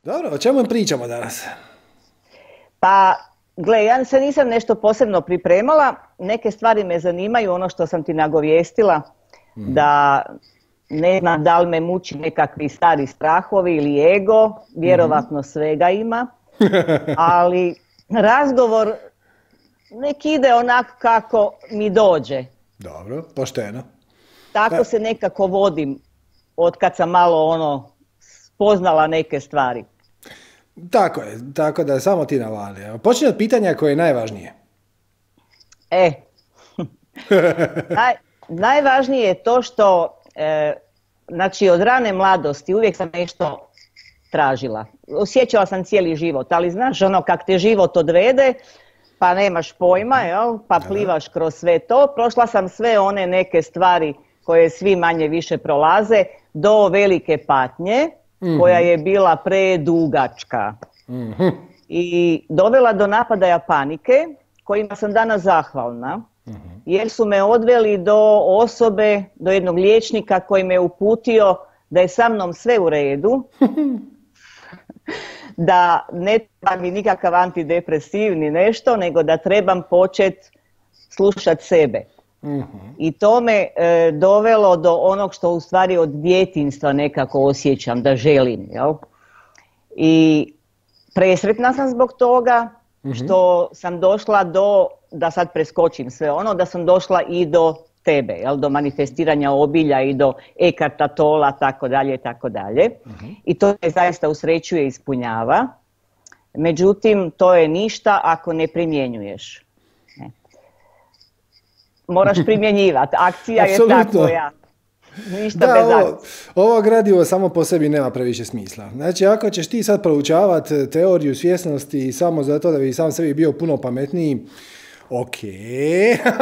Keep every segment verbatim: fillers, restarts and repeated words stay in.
Dobro, o čemu pričamo danas? Pa, gle, ja se nisam nešto posebno pripremala, neke stvari me zanimaju, ono što sam ti nagovijestila, mm. da ne znam da li me muči nekakvi stari strahovi ili ego, vjerovatno svega ima, ali razgovor nek ide onako kako mi dođe. Dobro, pošteno. Tako se nekako vodim od kad sam malo ono spoznala neke stvari. Tako je, tako da samo ti navali. Počni od pitanja koje je najvažnije. E, Naj, najvažnije je to što, e, znači od rane mladosti uvijek sam nešto tražila. Osjećala sam cijeli život, ali znaš ono kak te život odvede, pa nemaš pojma, jel? Pa plivaš kroz sve to. Prošla sam sve one neke stvari koje svi manje više prolaze, do velike patnje, mm-hmm. koja je bila predugačka. Mm-hmm. I dovela do napadaja panike, kojima sam danas zahvalna, mm-hmm. jer su me odveli do osobe, do jednog liječnika koji me uputio da je sa mnom sve u redu, da ne treba mi nikakav antidepresivni nešto, nego da trebam početi slušati sebe. Mm-hmm. I to me e, dovelo do onog što u stvari od djetinjstva nekako osjećam da želim. Jel? I presretna sam zbog toga mm-hmm. što sam došla do, da sad preskočim sve ono, da sam došla i do tebe, jel? Do manifestiranja obilja i do Ekarta Tola, tako dalje, tako dalje. Mm-hmm. I to me zaista usrećuje i ispunjava. Međutim, to je ništa ako ne primjenjuješ. Moraš primjenjivati. Akcija je tako ja. Ništa da, bez akcije. Ovo, ovo gradivo samo po sebi nema previše smisla. Znači, ako ćeš ti sad proučavati teoriju svjesnosti samo zato da bi sam sebi bio puno pametniji, ok,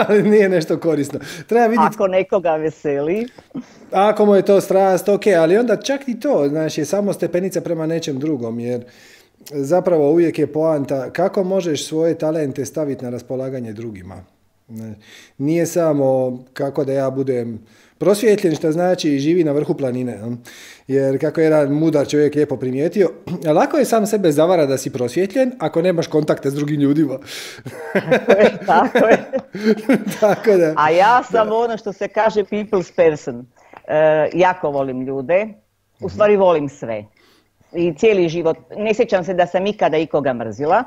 ali nije nešto korisno. Treba vidjeti... Ako nekoga veseli. Ako mu je to strast, ok, ali onda čak i to, znači, je samo stepenica prema nečem drugom, jer zapravo uvijek je poanta kako možeš svoje talente staviti na raspolaganje drugima. Nije samo kako da ja budem prosvjetljen, što znači živi na vrhu planine. Jer kako je jedan mudar čovjek lijepo primijetio, lako je sam sebe zavara da si prosvjetljen ako nemaš kontakte s drugim ljudima. Tako je. Tako da, a ja sam da. ono što se kaže people's person. E, jako volim ljude, u stvari volim sve. I cijeli život, ne sjećam se da sam ikada ikoga mrzila.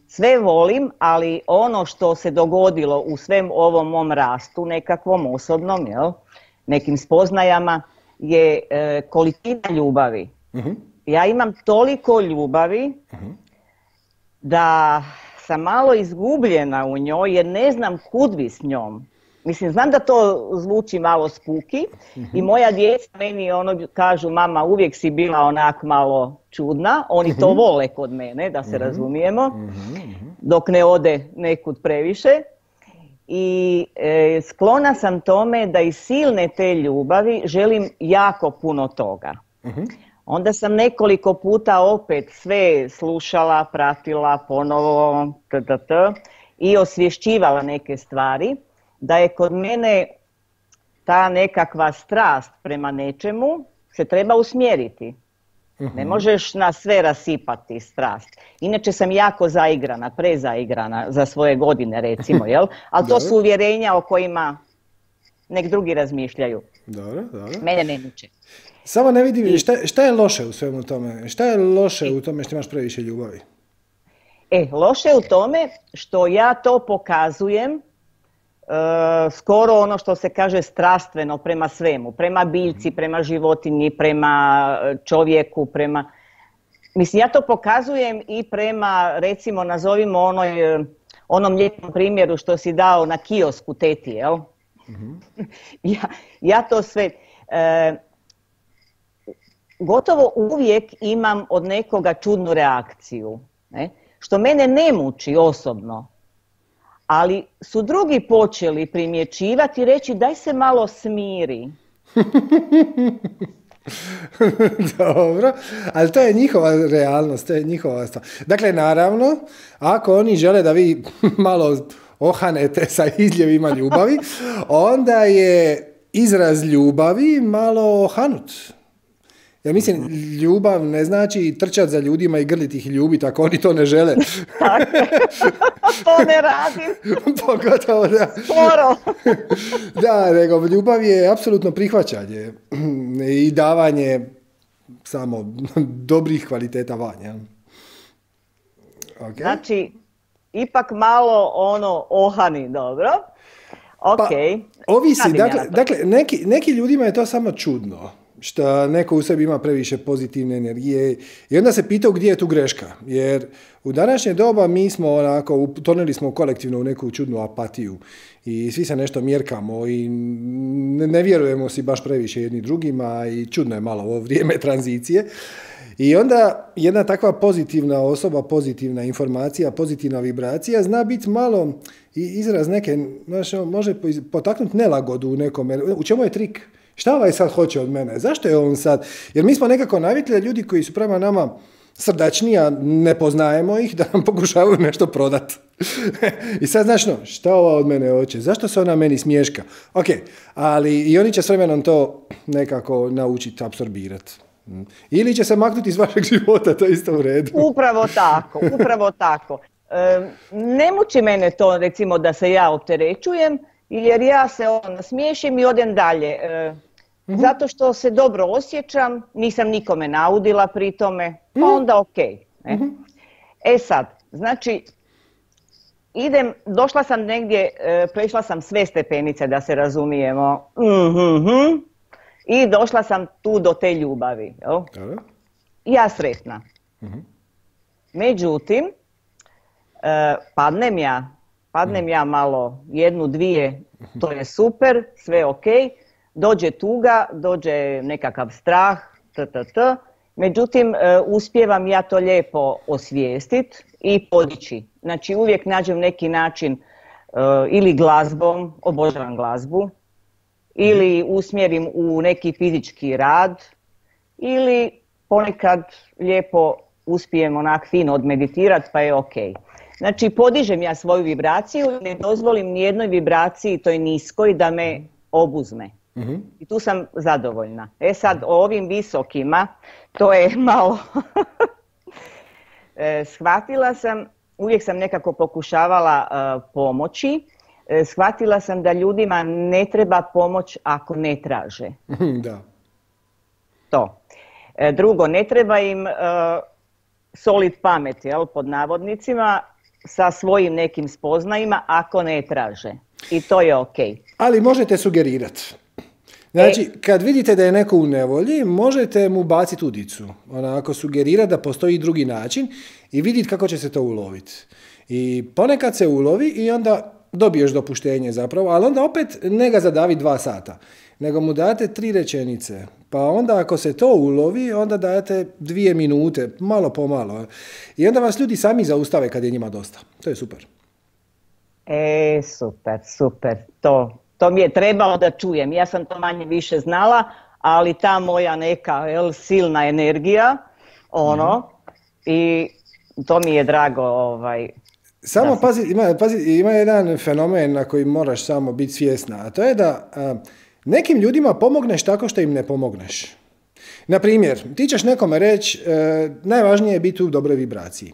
Sve volim, ali ono što se dogodilo u svem ovom mom rastu, nekakvom osobnom, jel, nekim spoznajama, je e, količina ljubavi. Uh-huh. Ja imam toliko ljubavi uh-huh. da sam malo izgubljena u njoj jer ne znam kud bi s njom. Mislim, znam da to zvuči malo spuki uh-huh. i moja djeca meni ono kažu, mama, uvijek si bila onak malo čudna, oni uh-huh. to vole kod mene, da se uh-huh. razumijemo, uh-huh. dok ne ode nekud previše. I e, sklona sam tome da iz silne te ljubavi želim jako puno toga. Uh-huh. Onda sam nekoliko puta opet sve slušala, pratila, ponovo ttt, i osvješćivala neke stvari. Da je kod mene ta nekakva strast prema nečemu se treba usmjeriti. Uh-huh. Ne možeš na sve rasipati strast. Inače sam jako zaigrana, prezaigrana za svoje godine recimo, jel? Ali to su uvjerenja o kojima nek drugi razmišljaju. Dobro, dobro. Mene ne muče. Samo ne vidim, šta, šta je loše u svemu tome? Šta je loše u tome što imaš previše ljubavi? E, loše je u tome što ja to pokazujem Uh, skoro ono što se kaže strastveno prema svemu, prema biljci, prema životinji, prema čovjeku, prema... Mislim, ja to pokazujem i prema, recimo, nazovimo onoj, onom lijepom primjeru što si dao na kiosku teti, jel? Mm-hmm. ja, ja to sve... Uh, gotovo uvijek imam od nekoga čudnu reakciju, ne? Što mene ne muči osobno. Ali su drugi počeli primjećivati i reći daj se malo smiri. Dobro, ali to je njihova realnost, to je njihova stvar. Dakle, naravno, ako oni žele da vi malo ohanete sa izljevima ljubavi, onda je izraz ljubavi malo ohanut. Ja mislim, ljubav ne znači trčati za ljudima i grliti ih i ljubiti ako oni to ne žele. Tako, to ne radim. Pogotovo, da. Skoro. Da, nego ljubav je apsolutno prihvaćanje i davanje samo dobrih kvaliteta vanja. Okay. Znači, ipak malo ono ohani, dobro. Ok. Pa, ovisi, dakle, dakle neki, neki ljudima je to samo čudno. Što neko u sebi ima previše pozitivne energije i onda se pitao gdje je tu greška, jer u današnje doba mi smo onako, utonili smo kolektivno u neku čudnu apatiju i svi se nešto mjerkamo i ne, ne vjerujemo si baš previše jedni drugima i čudno je malo ovo vrijeme tranzicije. I onda jedna takva pozitivna osoba, pozitivna informacija, pozitivna vibracija zna biti malo izraz neke, znaš, može potaknuti nelagodu u nekome. U čemu je trik? Šta ovaj sad hoće od mene? Zašto je on sad? Jer mi smo nekako navikli ljudi koji su prema nama srdačni, a ne poznajemo ih, da nam pokušavaju nešto prodati. I sad, znaš, no, šta ova od mene hoće? Zašto se ona meni smješka? Ok, ali i oni će s vremenom to nekako naučiti, apsorbirati. Ili će se maknuti iz vašeg života, to je isto u redu. Upravo tako, upravo tako. E, ne muči mene to, recimo, da se ja opterećujem, jer ja se ono nasmiješim i odem dalje. E, mm-hmm. Zato što se dobro osjećam, nisam nikome naudila pri tome, pa mm-hmm. onda ok. Ne? Mm-hmm. E sad, znači, idem, došla sam negdje, e, prešla sam sve stepenice, da se razumijemo. Mm-hmm. I došla sam tu do te ljubavi. Jel? Ja sretna. Mm-hmm. Međutim, e, padnem ja, padnem ja malo jednu, dvije, to je super, sve ok, dođe tuga, dođe nekakav strah, ttt. Međutim, e, uspijevam ja to lijepo osvijestiti i podići. Znači, uvijek nađem neki način e, ili glazbom, obožavam glazbu, ili usmjerim u neki fizički rad, ili ponekad lijepo uspijem onak fino odmeditirati, pa je ok. Znači, podižem ja svoju vibraciju i ne dozvolim nijednoj vibraciji, toj niskoj, da me obuzme. Mm-hmm. I tu sam zadovoljna. E sad, o ovim visokima, to je malo... e, shvatila sam, uvijek sam nekako pokušavala uh, pomoći, e, shvatila sam da ljudima ne treba pomoć ako ne traže. Da. To. E, drugo, ne treba im uh, solid pamet, jel, pod navodnicima, sa svojim nekim spoznajima ako ne traže. I to je ok. Ali možete sugerirati. Znači, e, kad vidite da je neko u nevolji, možete mu baciti udicu. Onako, sugerirati da postoji drugi način i vidjeti kako će se to uloviti. I ponekad se ulovi i onda dobiješ dopuštenje zapravo, ali onda opet ne ga zadavi dva sata, nego mu date tri rečenice. Pa onda ako se to ulovi, onda dajete dvije minute, malo po malo. I onda vas ljudi sami zaustave kad je njima dosta. To je super. E, super, super. To, to mi je trebalo da čujem. Ja sam to manje više znala, ali ta moja neka jel, silna energija, ono, mm. i to mi je drago. Ovaj, samo pazi, ima, pazi, ima jedan fenomen na koji moraš samo biti svjesna, a to je da... A, nekim ljudima pomogneš tako što im ne pomogneš. Na primjer, ti ćeš nekome reći, e, najvažnije je biti u dobroj vibraciji.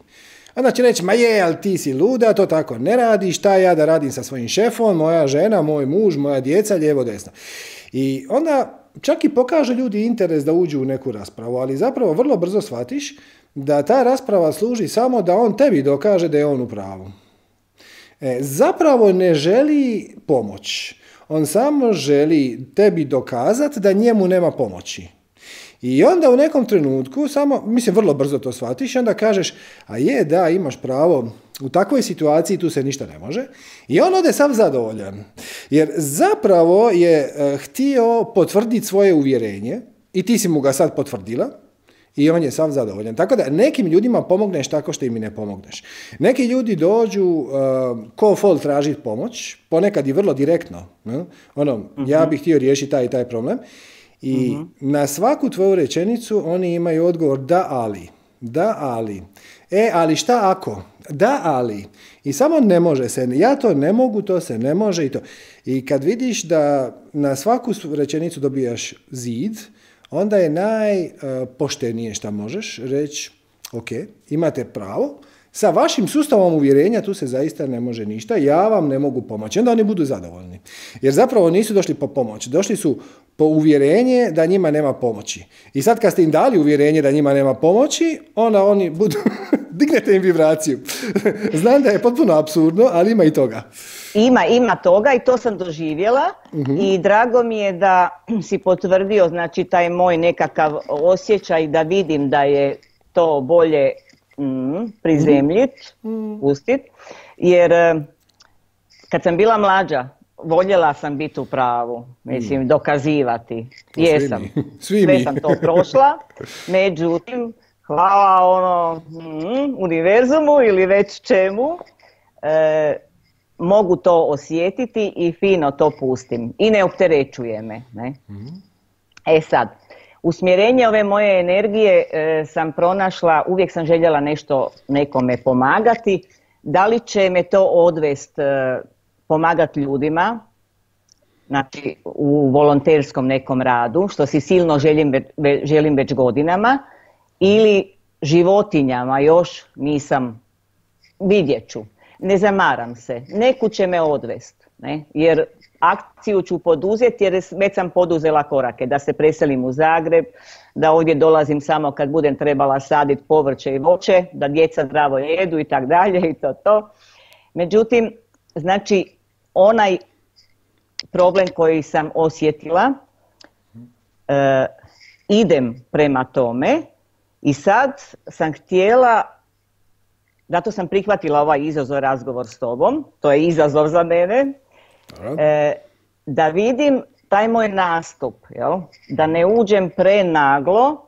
Onda će reći, ma je, ali ti si luda, to tako ne radiš, šta ja da radim sa svojim šefom, moja žena, moj muž, moja djeca, lijevo, desno. I onda čak i pokaže ljudi interes da uđu u neku raspravu, ali zapravo vrlo brzo shvatiš da ta rasprava služi samo da on tebi dokaže da je on u pravu. E, zapravo ne želi pomoć. On samo želi tebi dokazati da njemu nema pomoći. I onda u nekom trenutku, samo, mislim, vrlo brzo to shvatiš, onda kažeš, a je, da, imaš pravo, u takvoj situaciji tu se ništa ne može. I on ode sav zadovoljan. Jer zapravo je uh, htio potvrditi svoje uvjerenje i ti si mu ga sad potvrdila. I on je sav zadovoljan. Tako da nekim ljudima pomogneš tako što im ne pomogneš. Neki ljudi dođu uh, ko fol tražiti pomoć, ponekad i vrlo direktno. Ne? Ono, uh-huh. ja bih htio riješiti taj i taj problem. I uh-huh. na svaku tvoju rečenicu oni imaju odgovor da, ali. Da, ali. E, ali šta ako? Da, ali. I samo ne može se. Ja to ne mogu, to se ne može i to. I kad vidiš da na svaku rečenicu dobijaš zid, onda je najpoštenije što možeš reći, ok, imate pravo, sa vašim sustavom uvjerenja tu se zaista ne može ništa, ja vam ne mogu pomoći. Onda oni budu zadovoljni. Jer zapravo nisu došli po pomoć, došli su po uvjerenje da njima nema pomoći. I sad kad ste im dali uvjerenje da njima nema pomoći, onda oni budu, dignete im vibraciju. Znam da je potpuno apsurdno, ali ima i toga. Ima, ima toga i to sam doživjela uh-huh. i drago mi je da si potvrdio, znači, taj moj nekakav osjećaj da vidim da je to bolje mm, prizemljit, uh-huh. pustit, jer kad sam bila mlađa, voljela sam biti u pravu, mislim, dokazivati. Jesam. Svi mi. Sve sam to prošla, međutim, hvala ono mm, univerzumu ili već čemu, e, mogu to osjetiti i fino to pustim i ne opterećuje me. Ne? Mm. E sad, usmjerenje ove moje energije e, sam pronašla, uvijek sam željela nešto nekome pomagati, da li će me to odvest e, pomagati ljudima, znači u volonterskom nekom radu, što si silno želim, ve, želim već godinama, ili životinjama, još nisam, vidjet ću. Ne zamaram se, neku će me odvest, ne? Jer akciju ću poduzeti jer već sam poduzela korake, da se preselim u Zagreb, da ovdje dolazim samo kad budem trebala saditi povrće i voće, da djeca zdravo jedu i tak dalje i to to. Međutim, znači onaj problem koji sam osjetila, e, idem prema tome i sad sam htjela, zato sam prihvatila ovaj izazov razgovor s tobom, to je izazov za mene, e, da vidim taj moj nastup, jel? Da ne uđem prenaglo,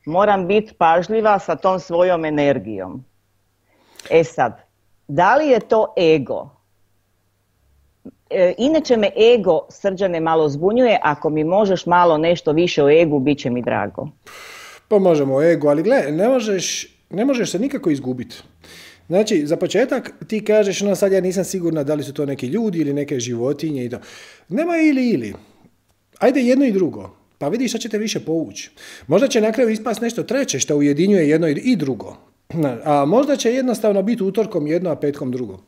moram biti pažljiva sa tom svojom energijom. E sad, da li je to ego? E, inače me ego, Srđane, malo zbunjuje, ako mi možeš malo nešto više o egu, bit će mi drago. Pa možemo o egu, ali gle, ne možeš, ne možeš se nikako izgubiti. Znači, za početak ti kažeš, no sad ja nisam sigurna da li su to neki ljudi ili neke životinje i to. Nema ili ili. Ajde jedno i drugo. Pa vidiš šta ćete više povući. Možda će na kraju ispast nešto treće što ujedinjuje jedno i drugo. A možda će jednostavno biti utorkom jedno, a petkom drugo.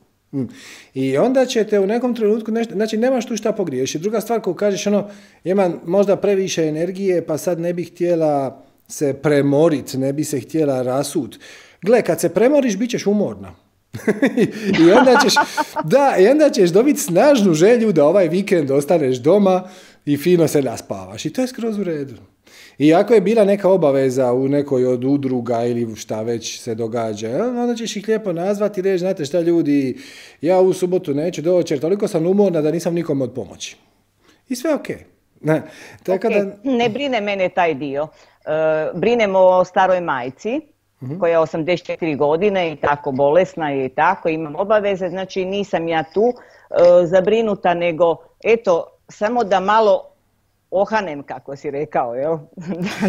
I onda ćete u nekom trenutku nešto, znači nemaš tu šta pogriješiti. Druga stvar koju kažeš, ono, imam možda previše energije, pa sad ne bih htjela se premoriti, ne bi se htjela rasut. Gle, kad se premoriš, bit ćeš umorna. I onda ćeš, da, i onda ćeš dobiti snažnu želju da ovaj vikend ostaneš doma i fino se naspavaš. I to je skroz u redu. I ako je bila neka obaveza u nekoj od udruga ili šta već se događa, onda ćeš ih lijepo nazvati i reći, znate šta ljudi, ja u subotu neću doći jer toliko sam umorna da nisam nikome od pomoći. I sve ok. Ne, tako okay. da... ne brine mene taj dio. Uh, brinemo o staroj majci, uh-huh. koja je osamdeset četiri godine i tako bolesna i tako, imam obaveze, znači nisam ja tu uh, zabrinuta, nego eto, samo da malo ohanem, kako si rekao, jel?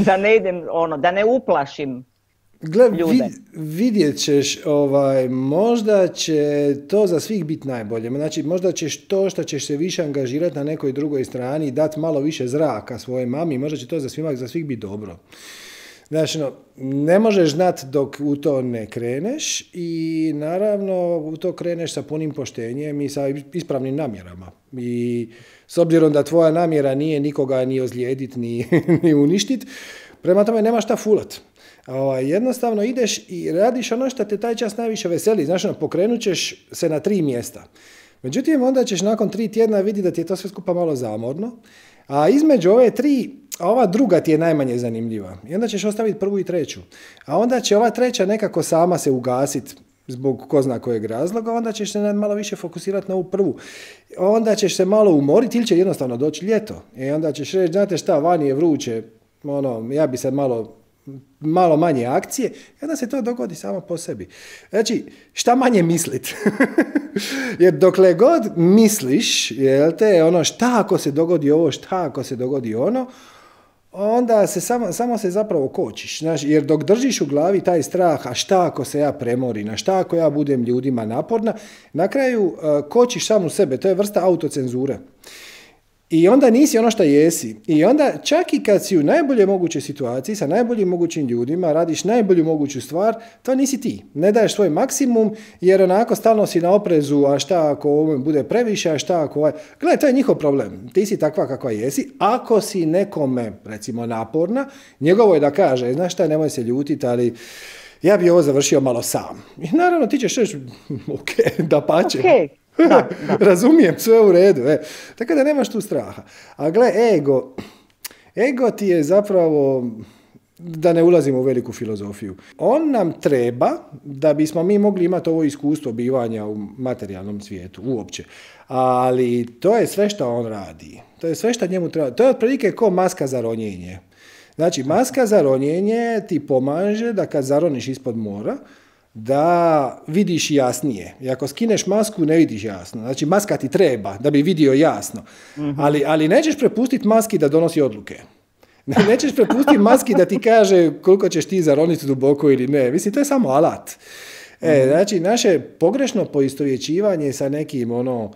Da ne idem, ono, da ne uplašim Gle, ljude. Vid, vidjet ćeš, ovaj, možda će to za svih biti najbolje. Znači, možda ćeš to što ćeš se više angažirati na nekoj drugoj strani i dati malo više zraka svojoj mami, možda će to za, svima, za svih biti dobro. Znači, no, ne možeš znati dok u to ne kreneš i naravno u to kreneš sa punim poštenjem i sa ispravnim namjerama. I s obzirom da tvoja namjera nije nikoga ni ozlijediti, ni, ni uništiti, prema tome nema šta fulat. Ovaj, jednostavno ideš i radiš ono što te taj čas najviše veseli. Znaš, no, pokrenut ćeš se na tri mjesta. Međutim, onda ćeš nakon tri tjedna vidjeti da ti je to sve skupa malo zamorno. A između ove tri, ova druga ti je najmanje zanimljiva. I onda ćeš ostaviti prvu i treću. A onda će ova treća nekako sama se ugasiti zbog ko zna kojeg razloga, onda ćeš se malo više fokusirati na ovu prvu. Onda ćeš se malo umoriti ili će jednostavno doći ljeto. I onda ćeš reći, znate šta, vani je vruće, ono, ja bi sad malo... malo manje akcije, i onda se to dogodi samo po sebi. Znači, šta manje mislit? Jer dokle god misliš, jel te, ono, šta ako se dogodi ovo, šta ako se dogodi ono, onda se samo, samo se zapravo kočiš. Znači, jer dok držiš u glavi taj strah, a šta ako se ja premorim, a šta ako ja budem ljudima naporna, na kraju uh, kočiš samu sebe, to je vrsta autocenzure. I onda nisi ono što jesi. I onda čak i kad si u najbolje mogućoj situaciji, sa najboljim mogućim ljudima, radiš najbolju moguću stvar, to nisi ti. Ne daješ svoj maksimum, jer onako stalno si na oprezu, a šta ako ovo bude previše, a šta ako ovaj... Gledaj, to je njihov problem. Ti si takva kakva jesi. Ako si nekome, recimo, naporna, njegovo je da kaže, znaš šta, nemoj se ljutiti, ali ja bi ovo završio malo sam. I naravno ti ćeš reći, ok, da pače. Okay. Da, da. Razumijem, sve u redu. E. Tako da nemaš tu straha. A gle, ego, ego ti je zapravo, da ne ulazimo u veliku filozofiju, on nam treba da bismo mi mogli imati ovo iskustvo bivanja u materijalnom svijetu, uopće. Ali to je sve što on radi. To je sve što njemu treba. To je otprilike ko maska za ronjenje. Znači, maska za ronjenje ti pomaže da kad zaroniš ispod mora, da vidiš jasnije. I ako skineš masku, ne vidiš jasno. Znači, maska ti treba da bi vidio jasno. Mm-hmm. Ali, ali nećeš prepustiti maski da donosi odluke. Nećeš prepustiti maski da ti kaže koliko ćeš ti zaroniti duboko ili ne. Mislim, to je samo alat. E, znači, naše pogrešno poistovjećivanje sa nekim ono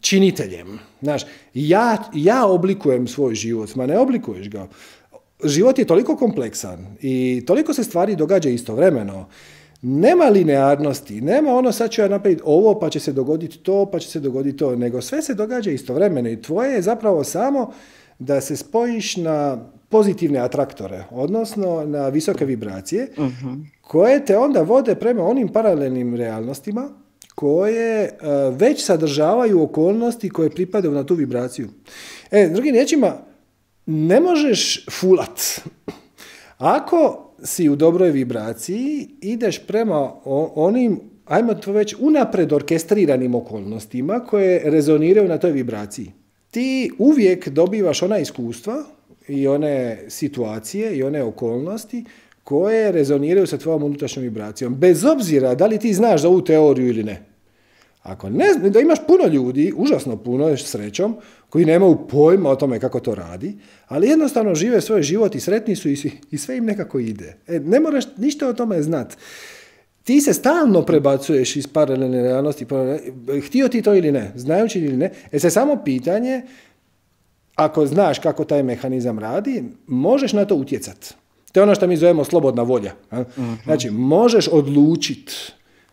činiteljem. Znaš, ja, ja oblikujem svoj život, ma ne oblikuješ ga. Život je toliko kompleksan i toliko se stvari događa istovremeno. Nema linearnosti, nema ono sad ću ja napraviti ovo pa će se dogoditi to, pa će se dogoditi to, nego sve se događa istovremeno i tvoje je zapravo samo da se spojiš na pozitivne atraktore, odnosno na visoke vibracije, uh-huh. koje te onda vode prema onim paralelnim realnostima koje uh, već sadržavaju okolnosti koje pripadaju na tu vibraciju. E, drugim riječima, ne možeš fulat. Ako si u dobroj vibraciji, ideš prema onim, ajmo to već, unapred orkestriranim okolnostima koje rezoniraju na toj vibraciji. Ti uvijek dobivaš ona iskustva i one situacije i one okolnosti koje rezoniraju sa tvojom unutrašnjom vibracijom. Bez obzira da li ti znaš za ovu teoriju ili ne. Ako ne, da imaš puno ljudi, užasno puno, srećom, koji nemaju pojma o tome kako to radi, ali jednostavno žive svoj život i sretni su i, i sve im nekako ide. E, ne moraš ništa o tome znat. Ti se stalno prebacuješ iz paralelne realnosti, htio ti to ili ne, znajući ili ne, e se samo pitanje, ako znaš kako taj mehanizam radi, možeš na to utjecati. To je ono što mi zovemo slobodna volja. Uh-huh. Znači, možeš odlučiti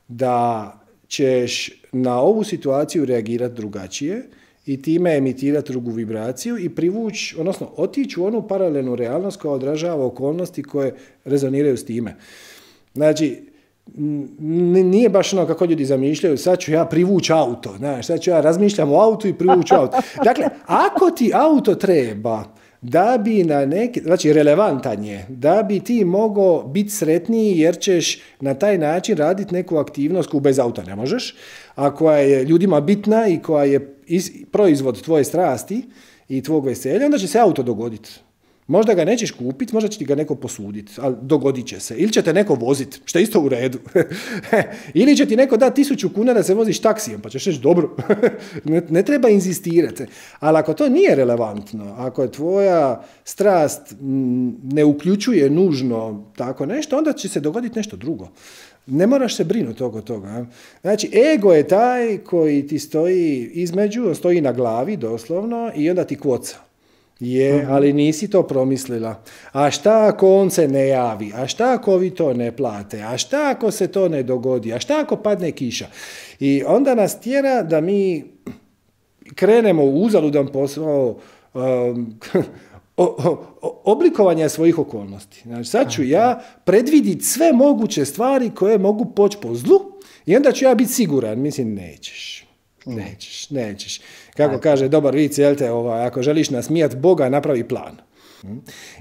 da ćeš na ovu situaciju reagirati drugačije i time emitirati drugu vibraciju i privući, odnosno otići u onu paralelnu realnost koja odražava okolnosti koje rezoniraju s time. Znači, nije baš ono kako ljudi zamišljaju, sad ću ja privući auto, znaš, sad ću ja razmišljam o autu i privući auto. Dakle, ako ti auto treba da bi na neki, znači relevantan je, da bi ti mogao biti sretniji jer ćeš na taj način raditi neku aktivnost koju bez auta ne možeš, a koja je ljudima bitna i koja je iz, proizvod tvoje strasti i tvog veselja, onda će se auto dogoditi. Možda ga nećeš kupiti, možda će ti ga neko posuditi, ali dogodit će se. Ili će te neko voziti, što je isto u redu. Ili će ti neko dati tisuću kuna da se voziš taksijem, pa ćeš reći dobro. ne, ne treba inzistirati. Ali ako to nije relevantno, ako je tvoja strast ne uključuje nužno tako nešto, onda će se dogoditi nešto drugo. Ne moraš se brinuti oko toga. Znači, ego je taj koji ti stoji između, on stoji na glavi doslovno i onda ti kvoca. Je, ali nisi to promislila. A šta ako on se ne javi? A šta ako vi to ne plate? A šta ako se to ne dogodi? A šta ako padne kiša? I onda nas tjera da mi krenemo u uzaludan posao um, o, o, oblikovanja svojih okolnosti. Znači, sad ću ja predvidjeti sve moguće stvari koje mogu poći po zlu i onda ću ja biti siguran. Mislim, nećeš. Nećeš, nećeš. Kako kaže dobar vic, jel te, ovaj, ako želiš nasmijat Boga, napravi plan.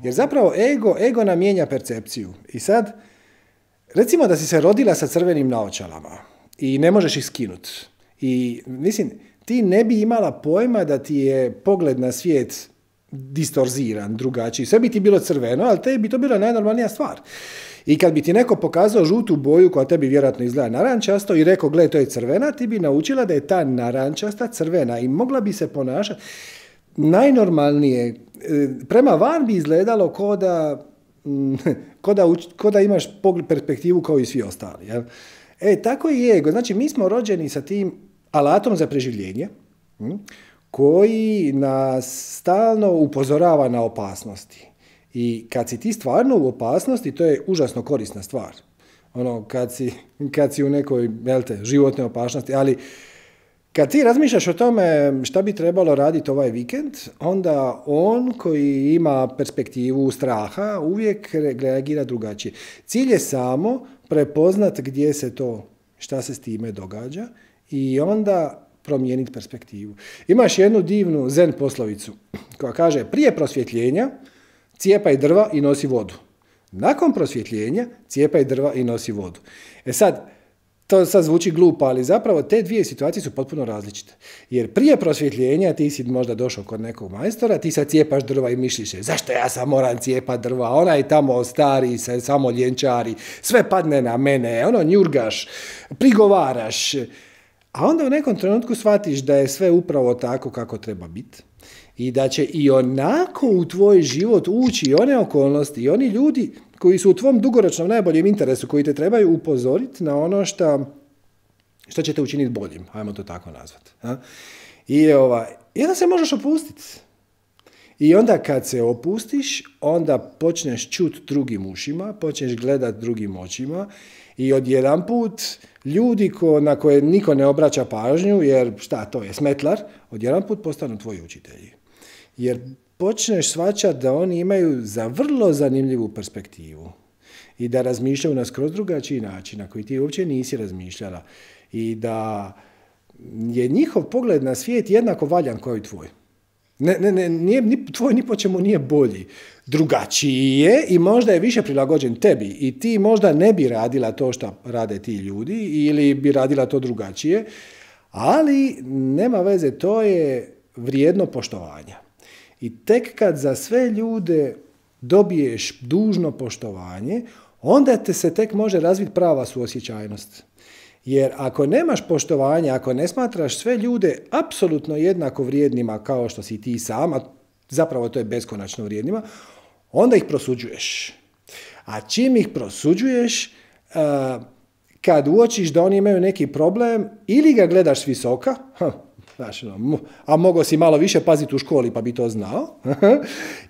Jer zapravo ego, ego nam mijenja percepciju. I sad, recimo da si se rodila sa crvenim naočalama i ne možeš ih skinuti. I mislim, ti ne bi imala pojma da ti je pogled na svijet distorziran, drugačiji. Sve bi ti bilo crveno, ali tebi bi to bila najnormalnija stvar. I kad bi ti neko pokazao žutu boju koja tebi vjerojatno izgleda narančasto i rekao, gle, to je crvena, ti bi naučila da je ta narančasta crvena i mogla bi se ponašati najnormalnije. Prema van bi izgledalo ko da, ko da, ko da imaš perspektivu kao i svi ostali. Jel? E, tako i ego. Znači, mi smo rođeni sa tim alatom za preživljenje, koji nas stalno upozorava na opasnosti. I kad si ti stvarno u opasnosti, to je užasno korisna stvar. Ono, kad si, kad si u nekoj, jel te, životnoj opasnosti, ali kad ti razmišljaš o tome šta bi trebalo raditi ovaj vikend, onda on koji ima perspektivu straha uvijek reagira drugačije. Cilj je samo prepoznat gdje se to, šta se s time događa i onda promijeniti perspektivu. Imaš jednu divnu zen poslovicu koja kaže prije prosvjetljenja cijepaj drva i nosi vodu. Nakon prosvjetljenja cijepaj drva i nosi vodu. E sad, to sad zvuči glupo, ali zapravo te dvije situacije su potpuno različite. Jer prije prosvjetljenja ti si možda došao kod nekog majstora, ti sad cijepaš drva i misliš se, zašto ja sam moram cijepat drva, onaj tamo stari se samo ljenčari, sve padne na mene, ono njurgaš, prigovaraš. A onda u nekom trenutku shvatiš da je sve upravo tako kako treba biti. I da će i onako u tvoj život ući i one okolnosti i oni ljudi koji su u tvom dugoročnom najboljem interesu, koji te trebaju upozoriti na ono što, što će te učiniti boljim, ajmo to tako nazvati. I ovaj, onda se možeš opustiti. I onda kad se opustiš, onda počneš čuti drugim ušima, počneš gledati drugim očima i odjedanput ljudi ko, na koje niko ne obraća pažnju, jer šta to je, smetlar, odjedanput postanu tvoji učitelji. Jer počneš shvaćati da oni imaju za vrlo zanimljivu perspektivu i da razmišljaju na skroz drugačiji način na koji ti uopće nisi razmišljala i da je njihov pogled na svijet jednako valjan kao i tvoj. Ne, ne, ne, nije, ni, tvoj ni po čemu nije bolji. Drugačiji je i možda je više prilagođen tebi i ti možda ne bi radila to što rade ti ljudi ili bi radila to drugačije, ali nema veze, to je vrijedno poštovanja. I tek kad za sve ljude dobiješ dužno poštovanje, onda te se tek može razviti prava suosjećajnost. Jer ako nemaš poštovanja, ako ne smatraš sve ljude apsolutno jednako vrijednima kao što si ti sama, zapravo to je beskonačno vrijednima, onda ih prosuđuješ. A čim ih prosuđuješ, kad uočiš da oni imaju neki problem, ili ga gledaš s visoka, znaš, a mogao si malo više paziti u školi pa bi to znao,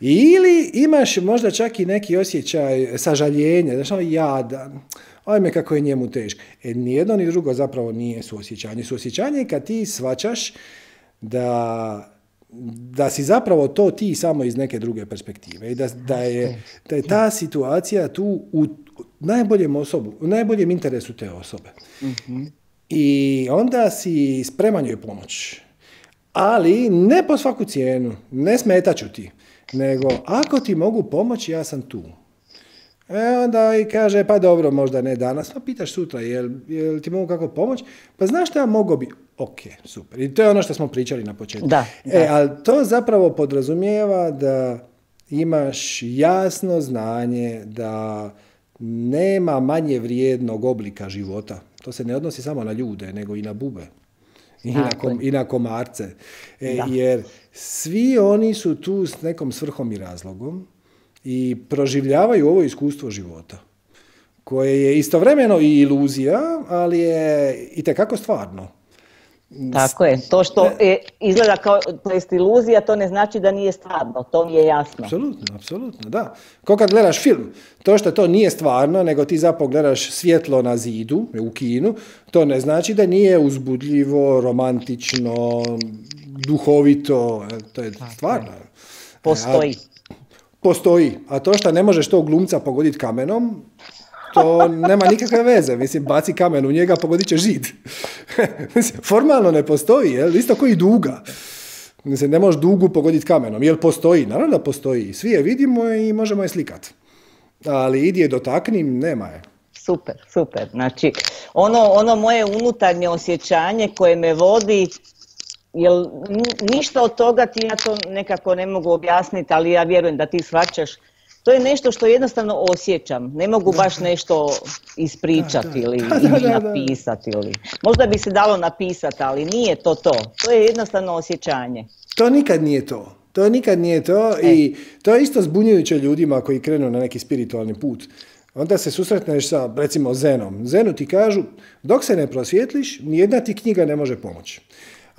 ili imaš možda čak i neki osjećaj sažaljenja, znaš, ono jadan, ajme kako je njemu teško. E, nijedno ni drugo zapravo nije suosjećanje. Suosjećanje je kad ti shvaćaš da, da si zapravo to ti samo iz neke druge perspektive i da, da, je, da je ta situacija tu u najboljem osobu, u najboljem interesu te osobe. Mm-hmm. I onda si spreman joj pomoć. Ali ne po svaku cijenu, ne smetaću ti, nego ako ti mogu pomoći, ja sam tu. E onda i kaže, pa dobro, možda ne danas, pa pitaš sutra, jel, jel ti mogu kako pomoći? Pa znaš šta mogu bi? Ok, super. I to je ono što smo pričali na početku. Da, da. E, ali to zapravo podrazumijeva da imaš jasno znanje da nema manje vrijednog oblika života. To se ne odnosi samo na ljude, nego i na bube. I na, kom, i na komarce. E, jer svi oni su tu s nekom svrhom i razlogom i proživljavaju ovo iskustvo života, koje je istovremeno i iluzija, ali je itekako stvarno. Tako je. To što je, izgleda kao to jest iluzija, to ne znači da nije stvarno. To mi je jasno. Apsolutno, apsolutno, da. Ko kad gledaš film, to što to nije stvarno, nego ti zapravo gledaš svjetlo na zidu u kinu, to ne znači da nije uzbudljivo, romantično, duhovito. To je stvarno. Postoji. A, postoji. A to što ne možeš tog glumca pogoditi kamenom, to nema nikakve veze. Mislim, baci kamen u njega, pogodit će žid. Formalno ne postoji, jel? Isto koji duga. Mislim, ne možeš dugu pogoditi kamenom. Jel postoji? Naravno da postoji. Svi je vidimo i možemo je slikati. Ali idi je dotakni, nema je. Super, super. Znači, ono, ono moje unutarnje osjećanje koje me vodi, jel ništa od toga ti ja to nekako ne mogu objasniti, ali ja vjerujem da ti shvaćaš. To je nešto što jednostavno osjećam. Ne mogu baš nešto ispričati ili, da, da, ili napisati. Ili. Možda bi se dalo napisati, ali nije to to. To je jednostavno osjećanje. To nikad nije to. To nikad nije to e. I to je isto zbunjujuće ljudima koji krenu na neki spiritualni put. Onda se susretneš sa, recimo, Zenom. Zenu ti kažu, dok se ne prosvjetliš, nijedna ti knjiga ne može pomoći.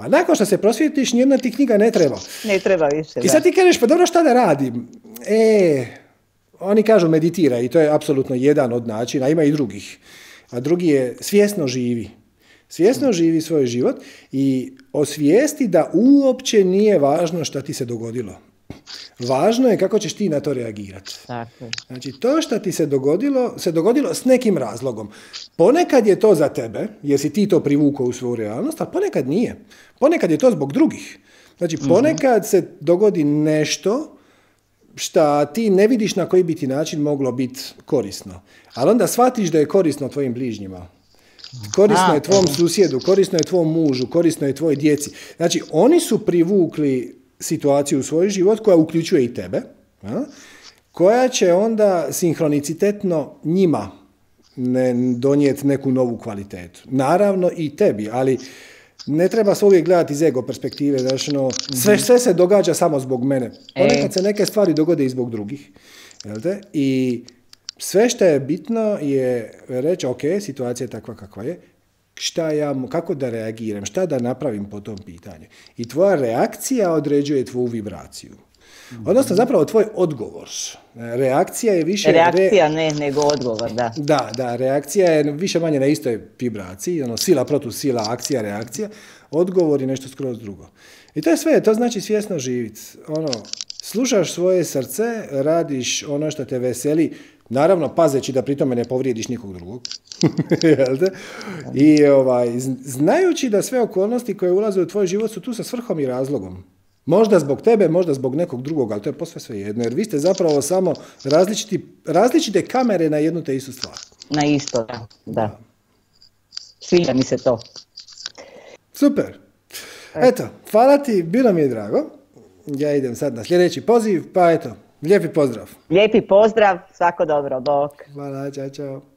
Pa nakon što se prosvjetiš, nijedna ti knjiga ne treba. Ne treba više, I sad ti kažeš, pa dobro, šta da radim? E, oni kažu meditira i to je apsolutno jedan od načina, ima i drugih. A drugi je svjesno živi. Svjesno živi svoj život i osvijesti da uopće nije važno šta ti se dogodilo. Važno je kako ćeš ti na to reagirati. Tako. Znači, to što ti se dogodilo, se dogodilo s nekim razlogom. Ponekad je to za tebe, jer si ti to privukao u svoju realnost, a ponekad nije. Ponekad je to zbog drugih. Znači, ponekad se dogodi nešto šta ti ne vidiš na koji bi ti način moglo biti korisno. Ali onda shvatiš da je korisno tvojim bližnjima. Korisno je tvom susjedu, korisno je tvom mužu, korisno je tvoj djeci. Znači, oni su privukli situaciju u svoj život koja uključuje i tebe, a, koja će onda sinhronicitetno njima ne donijeti neku novu kvalitetu. Naravno i tebi, ali ne treba se uvijek gledati iz ego perspektive. Znači, no, sve, sve se događa samo zbog mene. Ponekad se neke stvari dogode i zbog drugih. Jel te? I sve što je bitno je reći, ok, situacija je takva kakva je, šta ja, kako da reagiram, šta da napravim po tom pitanju. I tvoja reakcija određuje tvoju vibraciju. Odnosno, zapravo, tvoj odgovor. Reakcija je više... Reakcija ne, nego odgovor, da. Da, da, reakcija je više manje na istoj vibraciji, ono, sila protiv sila, akcija, reakcija. Odgovor je nešto skroz drugo. I to je sve, to znači svjesno živjeti. Ono, slušaš svoje srce, radiš ono što te veseli, naravno pazeći da pri tome ne povrijediš nikog drugog. I ovaj, znajući da sve okolnosti koje ulaze u tvoj život su tu sa svrhom i razlogom. Možda zbog tebe, možda zbog nekog drugog, ali to je posve sve jedno, jer vi ste zapravo samo različiti, različite kamere na jednu te istu stvar. Na isto, da. da. Sviđa mi se to. Super. Eto, hvala ti, bilo mi je drago. Ja idem sad na sljedeći poziv, pa eto, lijepi pozdrav. Lijepi pozdrav, svako dobro, bok. Hvala, čao, čao.